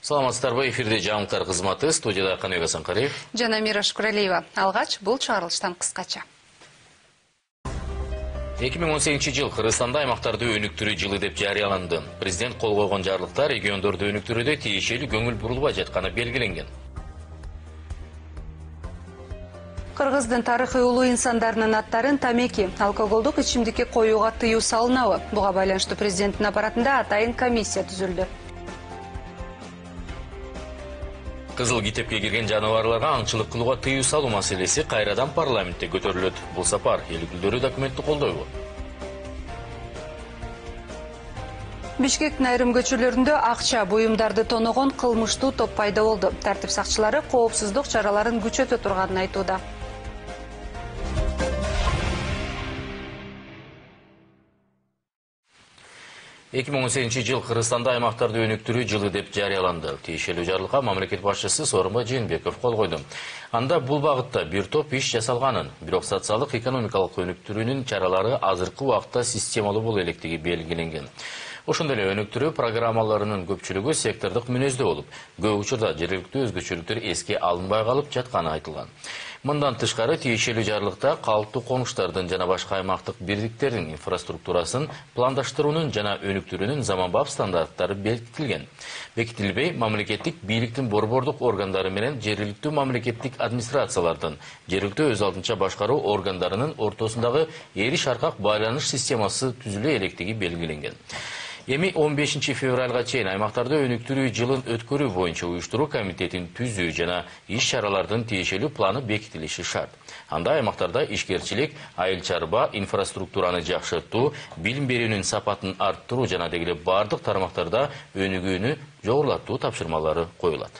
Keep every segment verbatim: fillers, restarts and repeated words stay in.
Саламатсыздарбы, эфирде жаңылыктар кызматы, студияда Каныбек Асанкариев жана Мира Шукуралиева. Алгач бул чыгарылыштан кыскача. эки миң он сегизинчи жыл Кыргызстанда аймактарды өнүктүрүү жылы деп жарыяланды. Президент кол койгон жарлыкта региондорду өнүктүрүүдө тиешелүү көңүл бурулбай жатканы белгиленген. Кыргыздын тарыхый улуу инсандарынын аттарын тамеки, алкоголдук ичимдикке коюуга тыюу салынабы? Буга байланыштуу президенттин аппаратында атайын комиссия түзүлдү. Кызыл китепке кирген жаныбарларга аңчылык кылууга тыюу салуу маселеси кайрадан парламентте көтөрүлөт. Бул сапар эл өкүлдөрү документти колдойбу? Бишкектин айрым көчөлөрүндө акча, буюмдарды тоногон кылмыштуу топ пайда болду. Тартип сакчылары коопсуздук чараларын күчөтө турганын айтууда. эки миң он сегизинчи жыл Кыргызстанда аймактарды өнүктүрүү жылы деп жарыяланды. Тиешелүү жарлыкка мамлекет башчысы Сооронбай Жээнбеков кол койду. Анда бул багытта бир топ иш жасалганын, бирок социалдык экономикалык өнүктүрүүнүн чаралары азыркы убакытта системалуу боло электиги белгиленген. Ошондой эле өнүктүрүү программаларынын көпчүлүгү сектордук мүнөздө болуп, көп учурда жергиликтүү өзгөчөлүктөр эске алынбай калып жатканы айтылган. Мындан тышкары тиешелүү жарлыкта калыптуу конуштардын жана башка аймактык бирликтердин инфраструктурасын пландаштыруунун жана өнүктүрүүнүн заманбап стандарттары бекитилген. Бекитилбей, мамлекеттик бийликтин борбордук органдары менен жергиликтүү мамлекеттик администрациялардын, жергиликтүү өз алдынча башкаруу органдарынын ортосундагы эриш аркак байланыш системасы түзүлө электиги белгиленген. Эми он бешинчи февралга чейин аймактарды өнүктүрүү жылын өткөрүү боюнча уюштуруу комитетин түзүү жана иш-чаралардын тиешелүү планы бекитилиши шарт. Анда аймактарда ишкерчилик, айыл чарба, инфраструктураны жакшыртуу, билим берүүнүн сапатын арттыруу жана дегеле бардык тармактарда өнүгүүнү жогорулатуу тапшырмалары коюлат.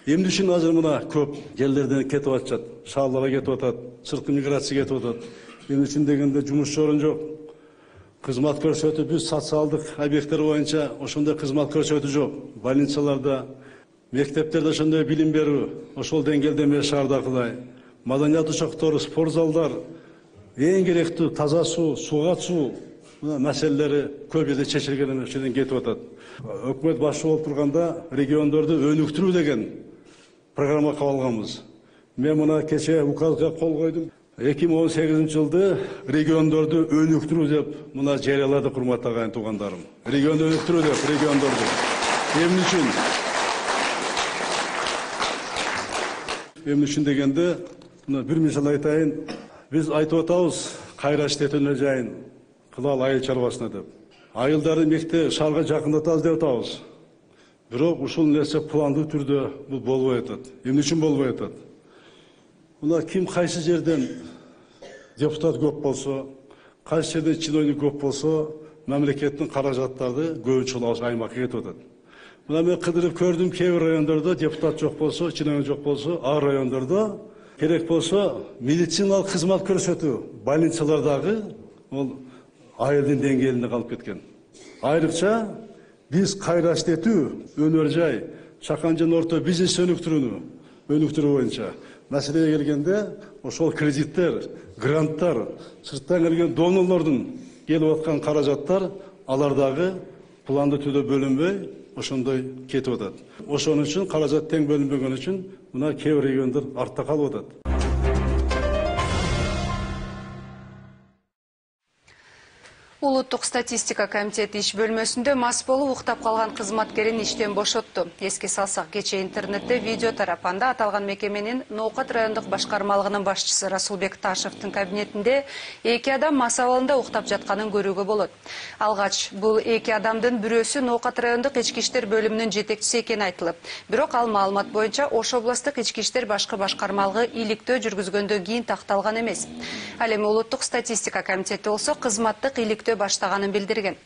Эмне үчүн азыр мына көп жерлерден кетип атышат, шаарларга кетип атат, сырткы миграция кетип атат. Эмне үчүн дегенде жумуш орун жок. Кызмат көрсөтүү биз социалдык объекттер боюнча ошондой кызмат көрсөтүү жок. Больницаларда, мектептерде ошондой билим берүү, ошол деңгээлде эмес шаардагыдай. Маданият ошоктору, спорт залдар, эң керектүү таза суу, сууга суу маселелери көп жерде чечилген эмес, ошодон кетип атат. Өкмөт башчы болуп турганда региондорду өнүктүрүү деген программа кабыл алганбыз. Мен мына кечээ указга кол койдум. эки миң он сегизинчи жылды региондорду өнүктүрүү деп мына жарыялады, урматтуу агайын туугандарым. Регионду өнүктүрүү деп региондорду. Эмне үчүн? Эмне үчүн дегенде, мына бир мисал айтайын. Биз айтып атабыз, кайра иштетүүнү жайын кылалы айыл чарбасына деп. Айылдарды мектеп шаарга жакындатабыз деп атабыз. Бирок ушул нерсе пландуу түрдө бул болбой атат. Эмне үчүн болбой атат? Мына ким кайсы жерден депутат көп болсо, кайсы жерден чиновник көп болсо, мамлекеттин каражаттары көбүнчө ошол аймакка кетип атат. Мына мен кыдырып көрдүм, кээ бир райондордо депутат жок болсо, чиновник жок болсо, ар райондордо керек болсо медициналык кызмат көрсөтүү больницалардагы ол айылдын деңгээлинде калып кеткен. Айрыкча биз кайра иштетүү, өнөр жай, чакан жана орто бизнес өнүктүрүүнү өнүктүрүү боюнча маселеге келгенде ошол кредиттер, гранттар, сырттан келген донорлордун келип аткан каражаттар алардагы пландуу түрдө бөлүнбөй ошондой кетип атат. Ошон үчүн каражат тең бөлүнбөгөн үчүн мына кээ бир региондор артта калып атат. Улуттук статистика комитети иш бөлмөсүндө мас болуп уктап калган кызматкерин иштен бошотту. Эске салсак, кечээ интернетте видео тарап, анда аталган мекеменин Ноокат райондук башкармалыгынын башчысы Расулбек Ташевдин кабинетинде эки адам мас абалында уктап жатканын көрүүгө болот. Алгач бул эки адамдын бирөөсү Ноокат райондук ички иштер бөлүмүнүн жетекчиси экени айтылып, бирок ал маалымат боюнча Ош областтык ички иштер башкы башкармалыгы иликтөө жүргүзгөндөн кийин такталган эмес. Ал эми улуттук статистика комитети болсо кызматтык иликтөө баштаганын билдирген.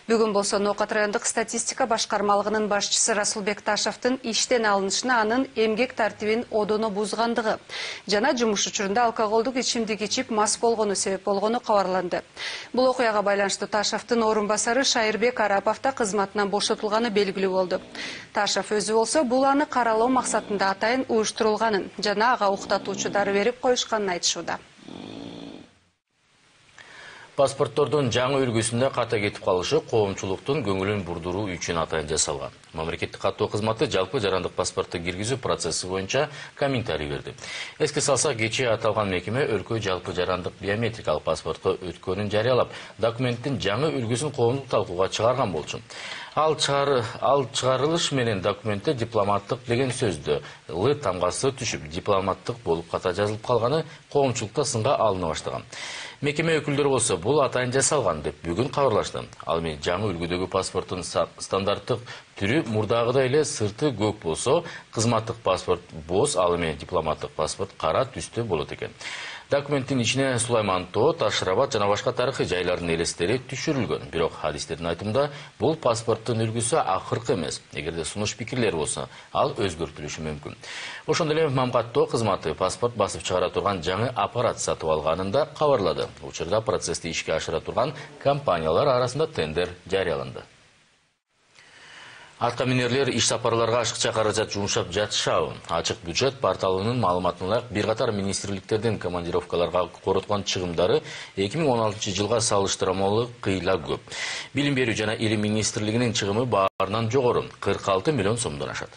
Бүгүн болсо Ноокат райондук статистика башкармалыгынын башчысы Расулбек Ташевдин иштен алынышына анын эмгек тартибин одоно бузгандыгы жана жумуш учурунда алкоголдук ичимдик ичип мас болгону себеп болгону кабарланды. Бул окуяга байланыштуу Ташевдин орун басары Шайырбек Арапов да кызматынан бошотулганы белгилүү болду. Ташев өзү болсо бул аны каралоо максатында атайын уюштурулганын жана ага уктатуучу дары берип коюшканын айтышууда. Паспорттордун жаңы үлгүсүндө ката кетип калышы коомчулуктун көңүлүн бурдуруу үчүн атайын жасалган. Мамлекеттик каттоо кызматы жалпы жарандык паспортту киргизүү процесси боюнча комментарий берди. Эске салсак, кечээ аталган мекеме өлкө жалпы жарандык биометрикалык паспортко өткөнүн жарыялап, документтин жаңы үлгүсүн коомдук талкууга чыгарган болчу. Ал чыгар ал чыгарылыш менен документте дипломаттык деген сөздү Л тамгасы түшүп, дипломаттык болуп ката жазылып калганы коомчулукта сынга алына баштаган. Мекеме өкүлдөрү болсо бул атайын жасалган деп бүгүн кабарлашты. Ал эми жаңы үлгүдөгү паспорттун стандарттык түрү мурдагыдай эле сырты көк болсо, кызматтык паспорт боз, ал эми дипломаттык паспорт кара түстө болот экен. Документтин ичине Сулайман Тоо, Таш-Рабат жана башка тарыхый жайлардын элестери түшүрүлгөн. Бирок хадистердин айтымында бул паспорттун үлгүсү акыркы эмес. Эгерде сунуш пикирлер болсо, ал өзгөртүлүшү мүмкүн. Ошондой эле Мамгаттоо кызматы паспорт басып чыгара турган жаңы аппарат сатып алганын да кабарлады. Учурда процессти ишке ашыра турган компаниялар арасында тендер жарыяланды. Аткаминерлер иш сапарларга ашыкча каражат жумшап жатышабы? Ачык бюджет порталынын маалыматына ылайык, бир катар министрликтердин командировкаларга короткон чыгымдары эки миң он алтынчы жылга салыштырмалуу кыйла көп. Билим берүү жана илим министрлигинин чыгымы баарынан жогору, кырк алты миллион сомдон ашат.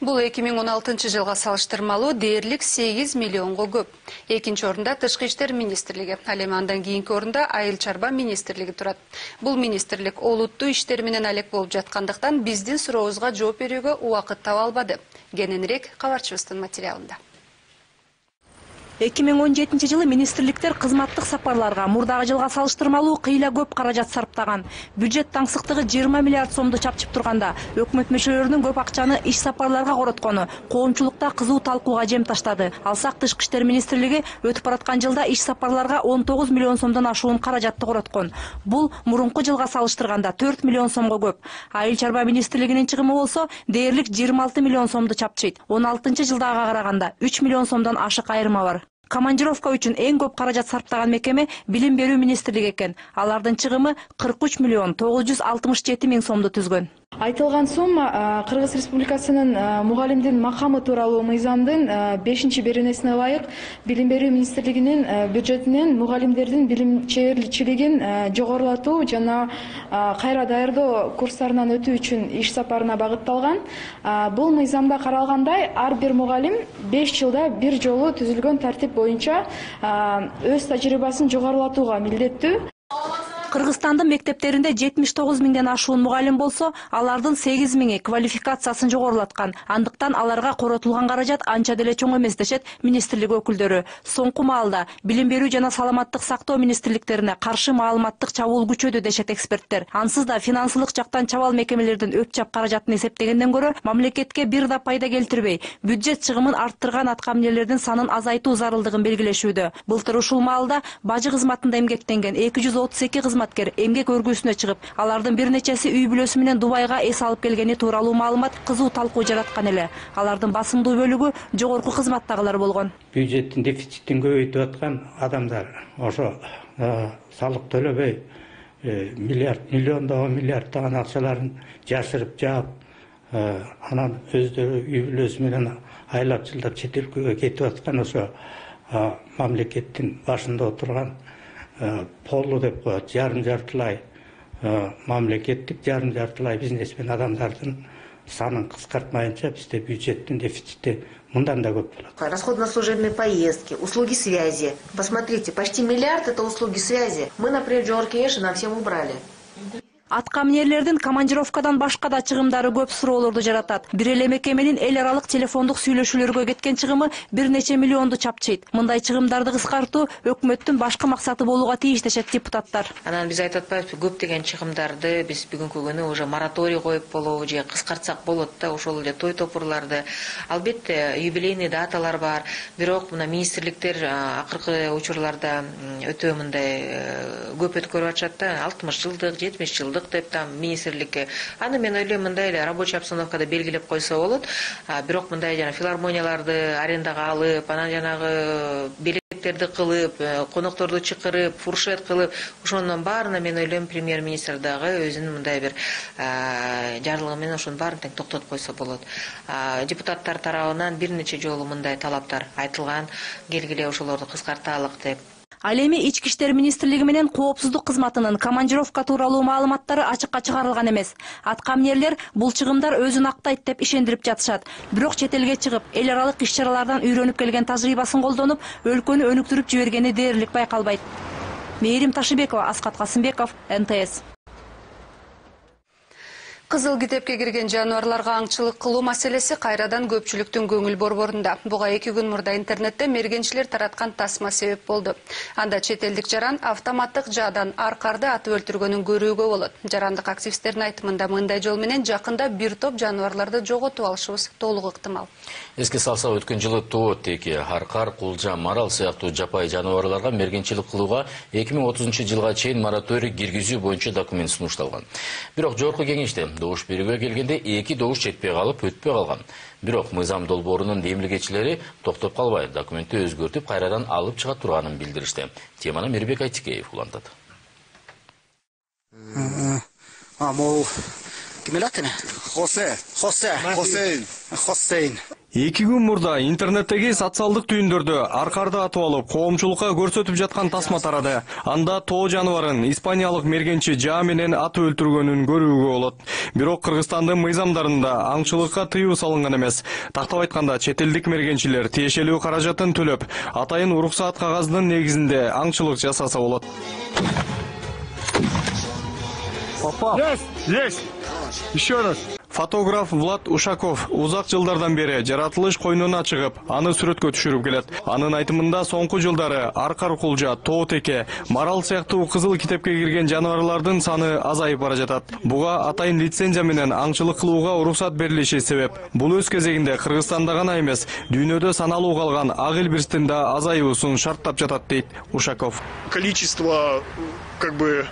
Бул эки миң он алтынчы жылга салыштырмалуу дээрлик сегиз миллионго көп. Экинчи орунда Тышкы иштер министрлиги, ал эми андан кийинки орунда Айыл чарба министрлиги турат. Бул министрлик олуттуу иштер менен алек болуп жаткандыктан биздин сурообузга жооп берүүгө убакыт таба албады. Кененирээк кабарчыбыздын материалында. эки миң он жетинчи жылы министрликтер кызматтык сапарларга мурдагы жылга салыштырмалуу кыйла көп каражат сарптаган. Бюджет таңсыктыгы жыйырма миллиард сомду чапчып турганда, өкмөт мүчөлөрүнүн көп акчаны иш сапарларга короткону коомчулукта кызуу талкууга жем таштады. Алсак, Тышкы иштер министрлиги өтүп бараткан жылда иш сапарларга он тогуз миллион сомдон ашуун каражатты короткон. Бул мурунку жылга салыштырганда төрт миллион сомго көп. Айыл чарба министрлигинин чыгымы болсо дээрлик жыйырма алты миллион сомду чапчыйт. он алтынчы жылдагыга караганда үч миллион сомдон ашык айырма бар. Командировка үчүн эң көп каражат сарптаган мекеме Билим берүү министрлиги экен. Алардын чыгымы кырк үч миллион тогуз жүз алтымыш жети миң сомду түзгөн. Айтылган сумма Кыргыз Республикасынын мугалимдин макамы тууралуу мыйзамдын бешинчи беренесине ылайык Билим берүү министрлигинин бюджетинен мугалимдердин билимчилигин жогорулатуу жана кайра даярдоо курстарынан өтүү үчүн иш сапарына багытталган. Бул мыйзамда каралгандай, ар бир мугалим беш жылда бир жолу түзүлгөн тартип боюнча өз тажрыйбасын жогорулатууга милдеттүү. Кыргызстандын мектептеринде жетимиш тогуз миңден ашуун мугалим болсо, алардын сегиз миңи квалификациясын жогорулаткан. Андыктан аларга коротулган каражат анча деле чоң эмес дешет министрлик өкүлдөрү. Соңку маалда Билим берүү жана саламаттык сактоо министрликтерине каршы маалыматтык чабуул күчөдү дешет эксперттер. Ансыз да финансылык жактан чабал мекемелердин өп-чап каражатын эсептегенден көрө, мамлекетке бир да пайда келтирбей, бюджет чыгымын арттырган аткаминерлердин санын азайтуу зарылдыгын белгилешүүдө. Былтыр ушул маалда бажы кызматында эмгектенген эки жүз отуз эки кызматкер эмгек өргүүсүнө чыгып, алардын бир нечеси үй бүлөсү менен Дубайга эс алып келгени тууралуу маалымат кызуу талкуу жараткан эле. Алардын басымдуу бөлүгү жогорку кызматтагылар болгон. Бюджеттин дефицитин көбөйтүп аткан адамдар ошо салык төлөбөй миллиард, миллиондогон миллиарддаган акчаларын жашырып жаап, анан өздөрү үй бүлөсү менен айлап жылдап чет өлкөгө кетип аткан ошо мамлекеттин башында отурган полу деп коет, жарым жартылай мамлекеттик, жарым жартылай бизнесмен адамдардын санын кыскартмайынча бизде бюджеттин дефицити мындан да көп болот. Расходы на служебные поездки, услуги связи. Посмотрите, почти миллиард это услуги связи. Мы, например, Джор Кеш нам всем убрали. Аткаминерлердин командировкадан башка да чыгымдары көп суроолорду жаратат. Бир эле мекеменин эл аралык телефондук сүйлөшүүлөргө кеткен чыгымы бир нече миллионду чапчыйт. Мындай чыгымдарды кыскартуу өкмөттүн башкы максаты болууга тийиш дешет депутаттар. Анан биз айтып атпайбызбы, көп деген чыгымдарды биз бүгүнкү күнү уже мораторий коюп болобу же кыскартсак болот да, ошол эле той топурларды. Албетте юбилейный даталар бар, бирок мына министрликтер акыркы учурларда өтө мындай көп өткөрүп атышат да, алтымыш жылдык, жетимиш жылдык деп там министрликке. Аны мен ойлойм, мындай эле рабочий обстановкада белгилеп койсо болот. Бирок мындай жана филармонияларды арендага алып, анан жанагы белектерди кылып, конокторду чакырып, фуршет кылып, ошонун баарына мен ойлойм премьер-министр дагы өзүнүн мындай бир жарлыгы менен ошонун баарын тең токтотуп койсо болот. Депутаттар тарабынан бир нече жолу мындай талаптар айтылган, келгиле ошолорду кыскарталык деп. Ал эми Ички иштер министрлиги менен коопсуздук кызматынын командировка тууралуу маалыматтары ачыкка чыгарылган эмес. Аткаминерлер бул чыгымдар өзүн актайт деп ишендирип жатышат. Бирок чет элге чыгып, эл аралык иш-чаралардан үйрөнүп келген тажрыйбасын колдонуп, өлкөнү өнүктүрүп жибергени дээрлик байкалбайт. Мээрим Ташыбекова, Аскат Касымбеков, эн тэ эс. Кызыл китепке кирген жануарларга аңчылык кылуу маселеси кайрадан көпчүлүктүн көңүл борборунда. Буга эки күн мурда интернетте мергенчилер тараткан тасма себеп болду. Анда чет элдик жаран автоматтык жаадан аркарды атып өлтүргөнүн көрүүгө болот. Жарандык активисттердин айтымында мындай жол менен жакында бир топ жануарларды жоготуп алышыбыз толук ыктымал. Эске салса, өткөн жылы тоо теки, аркар, кулжа, марал сыяктуу жапай жануарларга мергенчилик кылууга эки миң отузунчу жылга чейин мораторий киргизүү боюнча документ сунушталган. Бирок жогорку кеңеште добуш берүүгө келгенде эки добуш жетпей калып, өтпөй калган. Бирок мыйзам долбоорунун демилгечилери токтоп калбай, документти өзгөртүп, кайрадан алып чыга турганын билдиришти. Теманы Мирбек Айтикеев улантат. А, мол, ким эле аты? Хосе, Хосе, Хосейн, Хосейн. Эки күн мурда интернеттеги социалдык түйүндөрдө аркарды атып алып, коомчулукка көрсөтүп жаткан тасма тарады. Анда тоо жаныбарын испаниялык мергенчи жаа менен атып өлтүргөнүн көрүүгө болот. Бирок Кыргызстандын мыйзамдарында аңчылыкка тыюу салынган эмес. Тактап айтканда, чет элдик мергенчилер тиешелүү каражатын төлөп, атайын уруксаат кагазынын негизинде аңчылык жасаса болот. Попал. Есть, есть. Еще раз. Фотограф Влад Ушаков узак жылдардан бери жаратылыш койнуна чыгып, аны сүрөткө түшүрүп келет. Анын айтымында соңку жылдары аркар, кулжа, тоо теке, марал сыяктуу кызыл китепке кирген жаныбарлардын саны азайып бара жатат. Буга атайын лицензия менен аңчылык кылууга уруксат берилиши себеп. Бул өз кезегинде Кыргызстанда гана эмес, дүйнөдө саналуу калган ак илбирстин да азайуусун шарттап жатат, дейт Ушаков. Количество, как бы,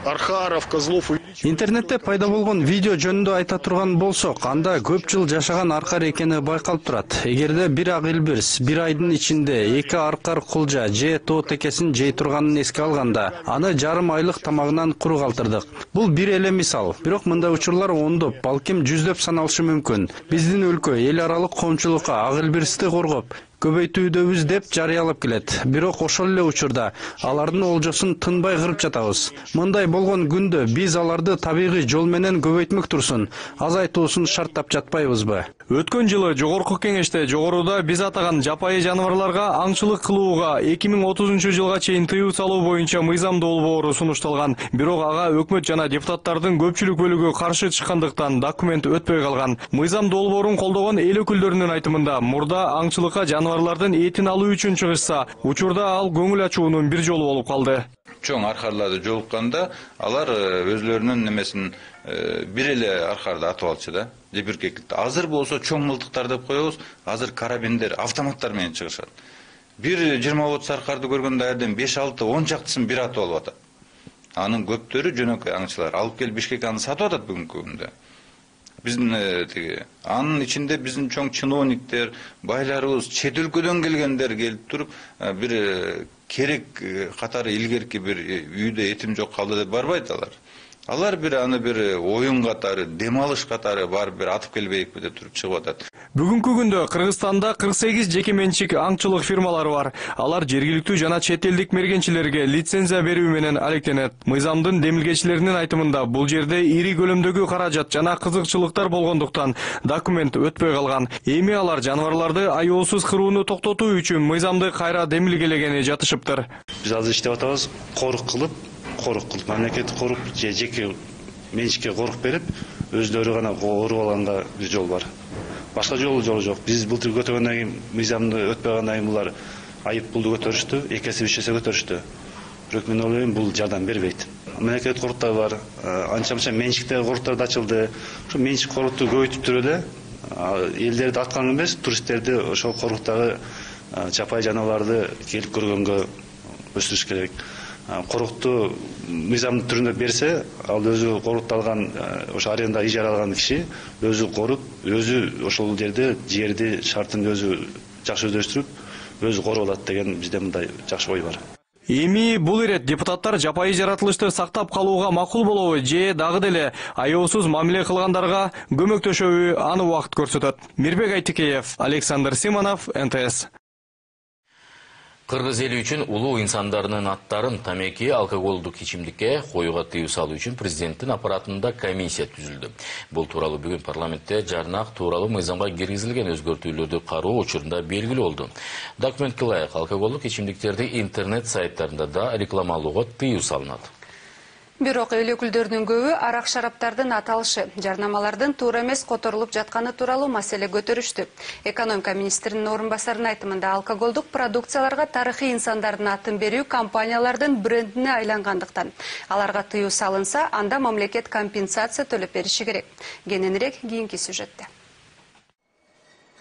архаров, козлов. Интернетте пайда болгон видео жөнүндө айта турган болсок, анда көп жыл жашаган аркар экени байкалып турат. Эгерде бир ак илбирс бир айдын ичинде эки аркар, кулжа же тоо текесин жей турганын эске алганда, аны жарым айлык тамагынан куру калтырдык. Бул бир эле мисал. Бирок мындай учурлар ондоп, балким жүздөп саналышы мүмкүн. Биздин өлкө эл аралык коомчулукка ак илбирсти коргоп, көбөйтүүдөбүз деп жарыялап келет. Бирок ошол эле учурда алардын олжосун тынбай кырып жатабыз. Мындай болгон күндө биз аларды табигый жол менен көбөйтмөк турсун, азайтуусун шарттап жатпайбызбы? Өткөн жылы жогорку кеңеште жогоруда биз атаган жапайы жаныбарларга аңчылык кылууга эки миң отузунчу жылга чейин тыюу салуу боюнча мыйзам долбоору сунушталган. Бирок ага өкмөт жана депутаттардын көпчүлүк бөлүгү каршы чыккандыктан документ өтпөй калган. Мыйзам долбоорун колдогон эл өкүлдөрүнүн айтымында, мурда аңчылыкка жаныбарлардын этин алуу үчүн чыгышса, учурда ал көңүл ачуунун бир жолу болуп калды. Чоң аркарларды жолукканда алар өзлөрүнүн немесин бир эле аркарды атып алчу да. Азыр болсо чоң мылтыктар деп коебуз, азыр карабиндер, автоматтар менен чыгышат. Бир жыйырма отуз аркарды көргөндө айрден беш алты он чактысын бир атып алып атат. Анын көптөрү жөнөкөй аңчылар алып келип Бишкекке аны сатып атат бүгүнкү күндө. Биздин тиги анын ичинде биздин чоң чиновниктер, байларыбыз, чет өлкөдөн келгендер келип туруп, бир керек катары илгерки бир үйдө этим жок калды деп барбайт алар. Алар бир аны бир оюн катары, дем алыш катары барып бир атып келбейикпи деп туруп чыгып атат. Бүгүнкү күндө Кыргызстанда кырк сегиз жеке менчик аңчылык фирмалары бар. Алар жергиликтүү жана чет элдик мергенчилерге лицензия берүү менен алектенет. Мыйзамдын демилгечилеринин айтымында, бул жерде ири көлөмдөгү каражат жана кызыкчылыктар болгондуктан документ өтпөй калган. Эми алар жаныбарларды аяосуз кырууну токтотуу үчүн мыйзамды кайра демилгелегени жатышыптыр. Биз азыр иштеп атабыз, корук кылып, корук кылып, мамлекеттик корук же жеке менчикке корук берип, өздөрү гана коруп алганга бир жол бар. Башка жолу жолу жок. Биз былтыр көтөргөндөн кийин, мыйзамды өтпөгөндөн кийин булар айып пулду көтөрүштү, эки эсе үч эсе көтөрүштү. Бирок мен ойлойм, бул жардам бербейт. Мамлекеттик коруктар бар, анча-мынча менчиктеги коруктар да ачылды. Ошо менчик корукту көбөйтүптүр эле, элдерди аткан эмес, туристтерди ошол коруктагы жапай жаныбарларды келип көргөнгө өстүрүш керек. Корукту мыйзамдын түрүндө берсе, ал өзү корукталган, ошо аренда ижара алган киши өзү коруп, өзү ошол жерде жерди, шартын өзү жакшы өздөштүрүп, өзү коруп алат деген бизде мындай жакшы ой бар. Эми бул ирет депутаттар жапайы жаратылышты сактап калууга макул болобу же дагы деле аяосуз мамиле кылгандарга көмөктөшөбү, аны убакыт көрсөтөт. Мирбек Айтикеев, Александр Симонов, эн тэ эс. Кыргыз эли үчүн улуу инсандарынын аттарын тамеки, алкоголдук ичимдикке коюуга тыюу салуу үчүн президенттин аппаратында комиссия түзүлдү. Бул тууралуу бүгүн парламентте жарнак тууралуу мыйзамга киргизилген өзгөртүүлөрдү кароо учурунда белгилүү болду. Документке ылайык алкоголдук ичимдиктерди интернет сайттарында да рекламалоого тыюу салынат. Бирок эл өкүлдөрүнүн көбү арак шараптардын аталышы, жарнамалардын туура эмес которулуп жатканы тууралуу маселе көтөрүштү. Экономика министринин орун басарынын айтымында алкоголдук продукцияларга тарыхый инсандардын атын берүү компаниялардын брендине айлангандыктан аларга тыюу салынса, анда мамлекет компенсация төлөп бериши керек. Кененирээк кийинки сюжетте.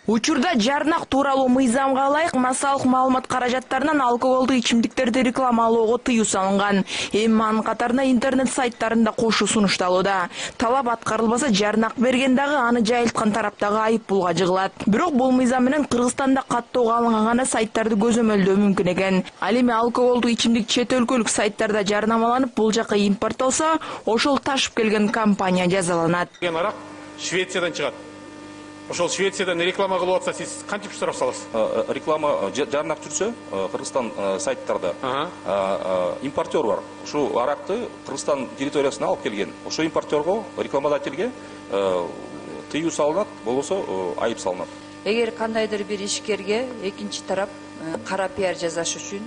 Учурда жарнак тууралуу мыйзамга ылайык массалык маалымат каражаттарынан алкоголдук ичимдиктерди рекламалоого тыюу салынган. Эми анын катарына интернет сайттарында кошуу сунушталууда. Талап аткарылбаса, жарнак берген дагы аны жайылткан тараптагы айып пулга жыгылат. Бирок бул мыйзам менен Кыргызстанда каттоого алынган гана сайттарды көзөмөлдөө мүмкүн экен. Ал эми алкоголдук ичимдик чет өлкөлүк сайттарда жарнамаланып, бул жака импорттолсо, ошол ташып келген компания жазаланат. Арак Швециядан чыгат. Ошол Швециядан реклама кылып атса, сиз кантип штраф саласыз? Реклама жарнак жүрсө, Кыргызстан сайттарда импортер бар. Ушул аракты Кыргызстан территориясына алып келген. Ошол импортерго, рекламодательге тыюу салынат, болбосо айып салынат. Эгер кандайдыр бир ишкерге экинчи тарап кара пиар жасаш үчүн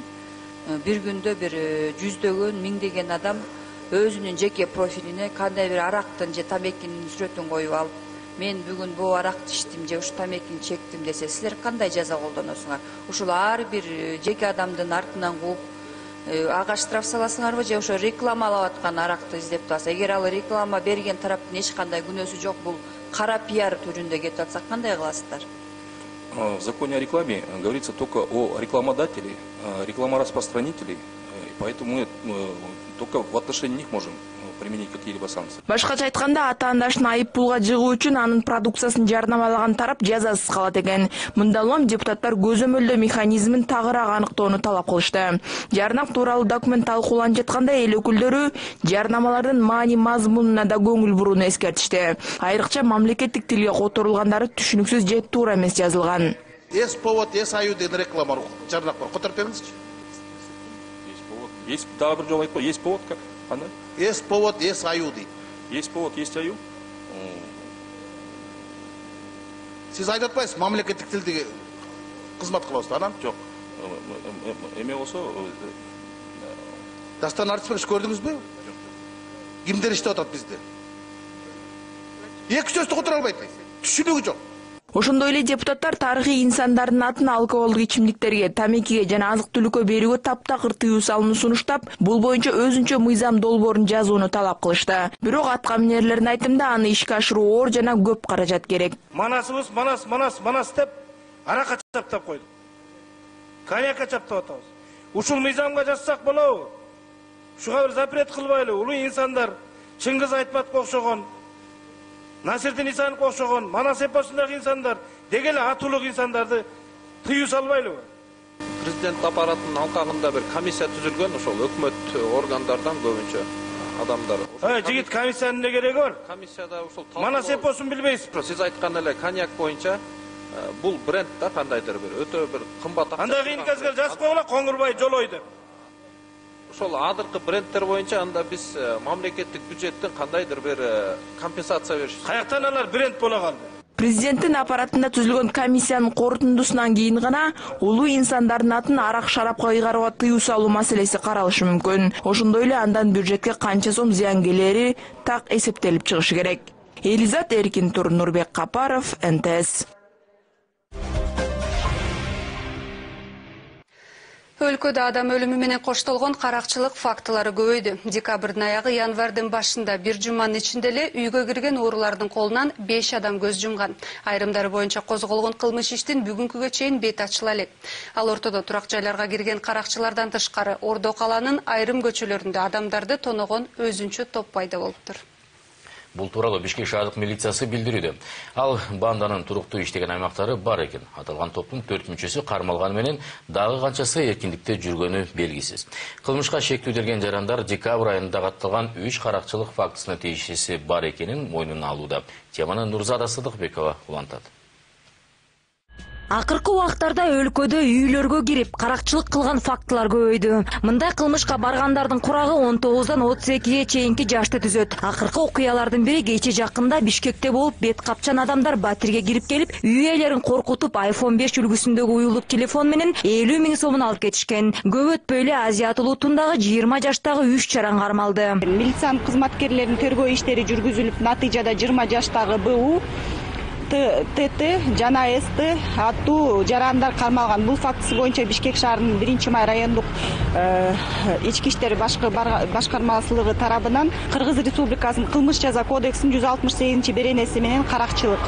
бир күндө бир жүздөгөн, миңдеген адам өзүнүн жеке профилине кандай бир арактын же тамекинин сүрөтүн коюп алып, мен бүгүн бул аракты ичтим же ушу тамекини чектим десе, силер кандай жаза колдоносуңар? Ушул ар бир жеке адамдын артынан кууп, ага штраф саласыңарбы же ошо рекламалап аткан аракты издеп турасыз? Эгер ал реклама берген тараптын эч кандай күнөөсү жок, бул кара пиар түрүндө кетип атса, кандай кыласыздар? В законе о рекламе говорится только о рекламодателе, рекламораспространителе, поэтому мы только в отношении них можем применить какие-либо санкции. Башкача айтканда, ата-андашын айып пулга жыгуу үчүн анын продукциясын жарнамалаган тарап жазасыз калат экен. Мында улам депутаттар көзөмөлдөө механизмин тагыраак аныктоону талап кылышты. Жарнак тууралуу документ талкууланып жатканда эл өкүлдөрү жарнамалардын маани мазмунуна да көңүл бурууну эскертишти. Айрыкча мамлекеттик тилге которулгандары түшүнүксүз же туура эмес жазылган. Эс повод, эс аю деген реклама жарнак бар. Которуп бериңизчи. Есть повод. Есть дагы бир жолу айтып, есть повод как? Кандай? Есть повод, есть аю дейт. Есть повод, есть аю. Сиз айтып атпайсыз, мамлекеттик тилде кызмат кылабыз, анан? Жок. Эме болсо, дастан артист иш көрдүңүзбү? Кимдер иштеп атат бизде? Эки сөздү которо албайт. Түшүнүгү жок. Ошондой эле депутаттар тарыхый инсандардын атын алкоголдук ичимдиктерге, тамекиге жана азык-түлүккө берүүгө таптакыр тыюу салууну сунуштап, бул боюнча өзүнчө мыйзам долбоорун жазууну талап кылышты. Бирок атка минерлердин айтымында аны ишке ашыруу оор жана көп каражат керек. Манасыбыз манас, манас, манас деп аракка чаптап койдук. Коньякка чаптап атабыз. Ушул мыйзамга жазсак болобу? Ушуга бир запрет кылбайлы. Улуу инсандар Чыңгыз Айтматовго окшогон, Насирдин Исановго окшогон, манас эпосундагы инсандар деги эле атуулук инсандарды тыюу салбайлыбы? Президент аппаратынын алкагында бир комиссия түзүлгөн, ошол өкмөт органдардан көбүнчө адамдар. Ай, жигит, комиссиянын эмне кереги бар? Комиссияда ушул манас эпосун билбейсиз. Сиз айткан эле коньяк боюнча бул бренд да кандайдыр бир өтө бир кымбат. Анда кийинкиге жазып койгула, Коңурбай Жолой деп. Ошол адыркы брендтер боюнча анда биз мамлекеттик бюджеттен кандайдыр бир компенсация бериш. Каяктан алар бренд боло калды? Президенттин аппаратында түзүлгөн комиссиянын корутундусунан кийин гана улуу инсандардын атын арак шарапка ыйгарууга тыюу салуу маселеси каралышы мүмкүн. Ошондой эле андан бюджетке канча сом зыян келери так эсептелип чыгышы керек. Элизат Эркин Тур, Нурбек Капаров, Эн Тэ Эс. Өлкөдө адам өлүмү менен коштолгон каракчылык фактылары көбөйдү. Декабрдын аягы январдын башында бир жуманын ичинде эле үйгө кирген уурулардын колунан беш адам көз жумган. Айрымдары боюнча козголгон кылмыш иштин бүгүнкүгө чейин бет ачыла элек. Ал ортодо турак жайларга кирген каракчылардан тышкары Ордо каланын айрым көчөлөрүндө адамдарды тоногон өзүнчө топ пайда болуптур. Бул тууралуу Бишкек шаардык милициясы билдирүүдө. Ал банданын туруктуу иштеген аймактары бар экен. Аталган топтун төрт мүчөсү кармалган менен дагы канчасы эркиндикте жүргөнү белгисиз. Кылмышка шектүүлдөргөн жарандар декабрь айында катталган үч каракчылык фактысына тийиштүүсү бар экенин мойнуна алууда. Теманы Нурзада Сыдыкбекова улантат. Акыркы убактарда өлкөдө үйлөргө кирип каракчылык кылган фактылар көбөйдү. Мындай кылмышка баргандардын курагы он тогуздан отуз экиге чейинки жашты түзөт. Акыркы окуялардын бири кече жакында Бишкекте болуп, бет капчан адамдар Батирге кирип келип, үй ээлерин коркутуп, айфон беш үлгүсүндөгү уюлдук телефон менен элүү миң сомун алып кетишкен. Көп өтпөй эле Азият улутундагы жыйырма жаштагы үч жаран кармалды. Милициянын кызматкерлеринин тергөө иштери жүргүзүлүп, натыйжада жыйырма жаштагы Б У Т Т жана С Т аттуу жарандар кармалган. Бул фактысы боюнча Бишкек шаарынын биринчи май райондук ички иштер башкармасылыгы тарабынан Кыргыз Республикасынын кылмыш жаза кодексинин жүз алтымыш сегизинчи беренеси менен каракчылык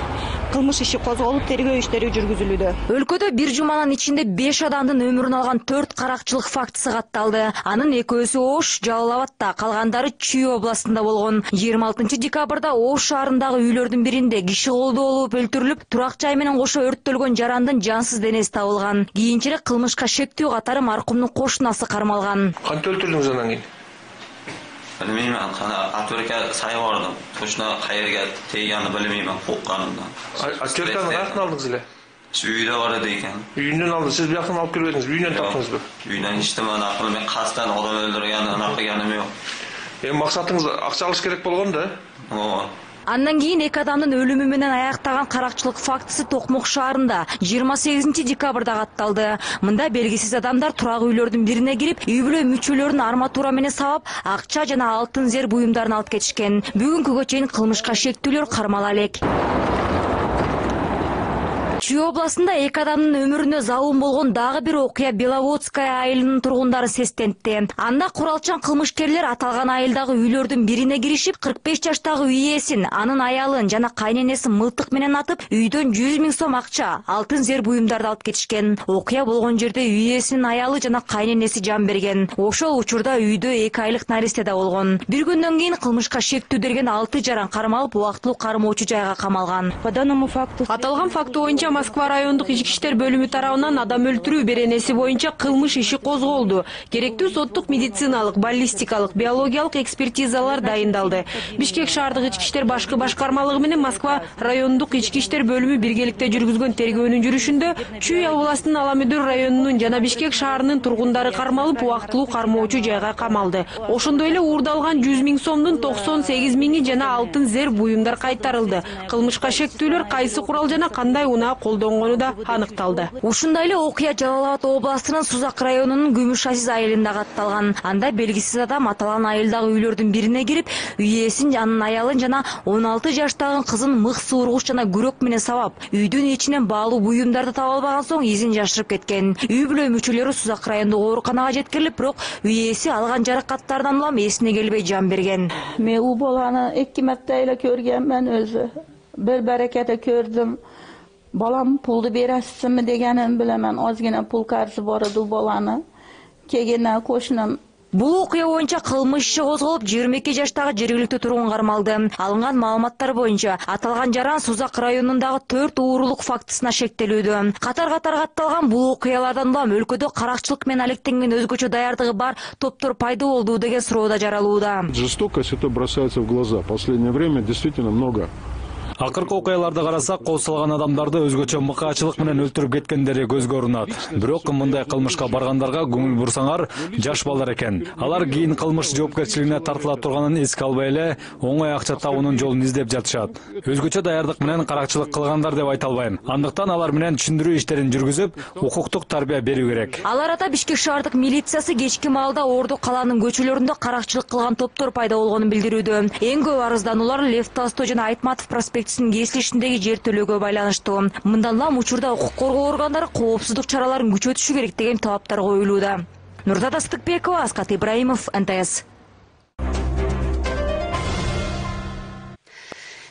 кылмыш иши козголуп, тергөө иштери жүргүзүлүүдө. Өлкөдө бир жуманын ичинде беш адамдын өмүрүн алган төрт каракчылык фактысы катталды. Анын экөөсү Ош, Жалал Абадта, калгандары Чүй областында болгон. жыйырма алтынчы декабрда Ош шаарындагы үйлөрдүн биринде киши колдоо болуп өлтүрүлүп, турак жай менен кошо өрттөлгөн жарандын жансыз денеси табылган. Кийинчерээк кылмышка шектүү катары маркумдун кошунасы кармалган. Кантип өлтүрдүңүз анан кийин? Bilmeyeyim, Atörke sayvardım. Toşuna kayırga teyyanı bilmeyeyim, korkkanımdan. Atörke'nin kaçını aldınız ile? Şu üyde var edeyken. Üyünden aldınız, siz bir yakın alıp gelmediniz, üyünden taptınız mı? Üyünden işte ben aklım, ben kastan adam öldürgen, anaklı yanım yok. E, maksatınız akça alış gerek bolğon da? O. Андан кийин эки адамдын өлүмү менен аяктаган каракчылык фактысы Токмок шаарында жыйырма сегизинчи декабрда катталды. Мында белгисиз адамдар турак үйлөрдүн бирине кирип, үй бүлө мүчөлөрүн арматура менен сабап, акча жана алтын зер буюмдарын алып кетишкен. Бүгүнкүгө чейин кылмышка шектүүлөр кармала элек. Чүй областында эки адамдын өмүрүнө залым болгон дагы бир окуя Беловодская айылынын тургундары сестентти. Анда куралчан кылмышкерлер аталган айылдагы үйлөрдүн бирине киришип, кырк беш жаштагы үй ээсин, анын аялын жана кайненесин мылтык менен атып, үйдөн жүз миң сом акча, алтын зер буюмдарды алып кетишкен. Окуя болгон жерде үй ээсинин аялы жана кайненеси жан берген. Ошол учурда үйдө эки айлык наристе да болгон. Бир күндөн кийин кылмышка шектүү берген алты жаран кармалып, убактылуу кармоочу жайга камалган. Аталган факты боюнча Москва райондук ички иштер бөлүмү тарабынан адам өлтүрүү беренеси боюнча кылмыш иши козголду. Керектүү соттук медициналык, баллистикалык, биологиялык экспертизалар дайындалды. Бишкек шаардык ички иштер башкы башкармалыгы менен Москва райондук ички иштер бөлүмү биргеликте жүргүзгөн тергөөнүн жүрүшүндө Чүй областынын Аламүдөр районунун жана Бишкек шаарынын тургундары кармалып, убактылуу кармоочу жайга камалды. Ошондой эле уурдалган жүз миң сомдун токсон сегиз миңи жана алтын зер буюмдар кайтарылды. Кылмышка шектүүлөр кайсы курал жана кандай унаа колдонгону да аныкталды. Ушундай эле окуя Жалал Абад областынын Сузак районунун Күмүш Азиз айылында катталган. Анда белгисиз адам аталган айылдагы үйлөрдүн бирине кирип, үй ээсин, анын аялын жана он алты жаштагы кызын мык суургуч жана күрөк менен сабап, үйдүн ичинен баалуу буюмдарды таба албаган соң изин жашырып кеткен. Үй бүлө мүчөлөрү Сузак райондук ооруканага жеткирилип, бирок үй ээси алган жаракаттардан улам эсине келбей жан берген. Мен у баланы эки марта эле көргөмүн өзү. Бир баракета көрдүм. Балам пулду бересизби дегенин билемин. Озгина пул карзы бар эди баланы. Кегенен кошунам. Бул окуя боюнча кылмыш иши козголуп, жыйырма эки жаштагы жергиликтүү тургун кармалды. Алынган маалыматтар боюнча аталган жаран Сузак районундагы төрт уурулук фактысына шектелүүдө. Катар-катар катталган бул окуялардан улам өлкөдө каракчылык менен алектенген өзгөчө даярдыгы бар топтор пайда болду деген суроо да жаралууда. Жестокость это бросается в глаза. В последнее время действительно много. Акыркы окуяларды карасак, кол салган адамдарды өзгөчө мыкаачылык менен өлтүрүп кеткендери көзгө урунат. Бирок мындай кылмышка баргандарга көңүл бурсаңар, жаш балдар экен. Алар кийин кылмыш жоопкерчилигине тартыла турганын эске албай эле, оңой акча табуунун жолун издеп жатышат. Өзгөчө даярдык менен каракчылык кылгандар деп айта албайм. Андыктан алар менен түшүндүрүү иштерин жүргүзүп, укуктук тарбия берүү керек. Ал арада Бишкек шаардык милициясы кечки маалда Орду калаанын көчөлөрүндө каракчылык кылган топтор пайда болгонун билдирүүдө. Эң көп арыздануулар Лев Толстой жана Айтматов проспект кесилишиндеги жер төлөөгө байланыштуу. Мындан улам учурда укук коргоо органдары коопсуздук чараларын күчөтүшү керек деген талаптар коюлууда. Нурзада Сыдыкбекова, Аскат Ибраимов, Н Т С.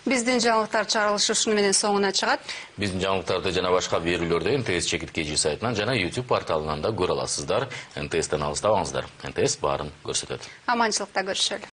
Биздин жаңылыктар чыгарылышы ушуну менен соңуна чыгат. Биздин жаңылыктарды жана башка берүүлөрдү Н Т С чекиткечи сайтынан жана YouTube порталынан да көрө аласыздар. Н Т Стен алыстабаңыздар. Н Т С баарын көрсөтөт. Аманчылыкта көрүшөлү.